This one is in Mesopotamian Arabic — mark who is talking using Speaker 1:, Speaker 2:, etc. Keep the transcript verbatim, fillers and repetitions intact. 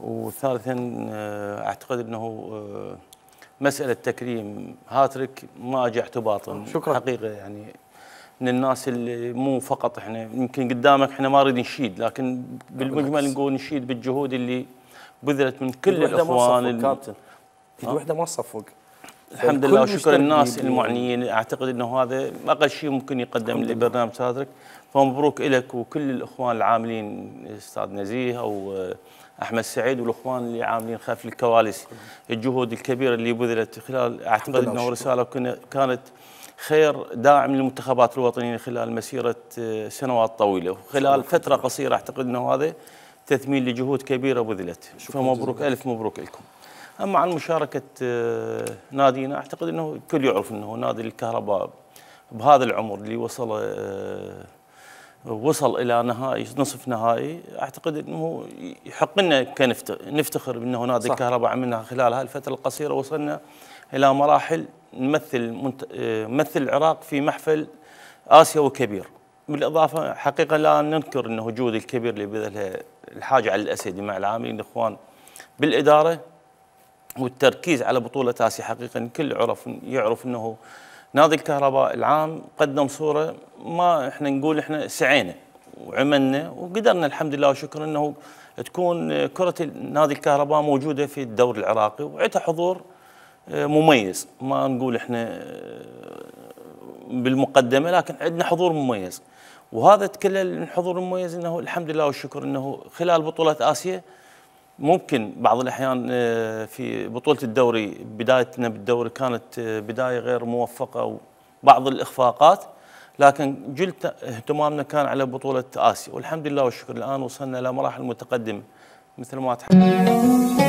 Speaker 1: وثالثا اعتقد انه مساله تكريم هاتريك ما اجى اعتباطا.
Speaker 2: شكرا.
Speaker 1: حقيقه يعني من الناس اللي مو فقط احنا يمكن قدامك احنا ما نريد نشيد، لكن بالمجمل نقول نشيد بالجهود اللي بذلت من كل الاخوان.
Speaker 2: كابتن ايد وحده ما تصفق.
Speaker 1: الحمد لله وشكر الناس المعنيين. اعتقد انه هذا اقل شيء ممكن يقدم لبرنامج هاتريك، فمبروك لك وكل الاخوان العاملين، استاذ نزيه او احمد سعيد والاخوان اللي عاملين خلف الكواليس. الجهود الكبيره اللي بذلت خلال، اعتقد انه رساله كانت خير داعم للمنتخبات الوطنيه خلال مسيره سنوات طويله، وخلال فتره قصيره اعتقد انه هذا تثمين لجهود كبيره بذلت. فمبروك، الف مبروك لكم. اما عن مشاركه نادينا، اعتقد انه الكل يعرف انه نادي الكهرباء بهذا العمر اللي وصل وصل الى نهائي نصف نهائي، اعتقد انه يحق لنا كنفتخر بانه نادي الكهرباء عملنا خلال هذه الفتره القصيره وصلنا الى مراحل نمثل نمثل العراق في محفل اسيوي كبير. بالاضافه حقيقه لا ننكر انه الجهود الكبير اللي بذلها الحاج علي الاسدي مع العاملين الاخوان بالاداره والتركيز على بطوله اسيا. حقيقه الكل عرف يعرف انه نادي الكهرباء العام قدم صوره ما احنا نقول احنا سعينا وعملنا وقدرنا الحمد لله وشكرا انه تكون كره نادي الكهرباء موجوده في الدوري العراقي وعندها حضور مميز. ما نقول احنا بالمقدمه لكن عندنا حضور مميز، وهذا تكلل من حضور مميز انه الحمد لله والشكر انه خلال بطوله اسيا ممكن بعض الاحيان في بطوله الدوري بدايتنا بالدوري كانت بدايه غير موفقه وبعض الاخفاقات، لكن جلت اهتمامنا كان على بطوله اسيا والحمد لله والشكر الان وصلنا الى مراحل متقدمه مثل ما تحدث.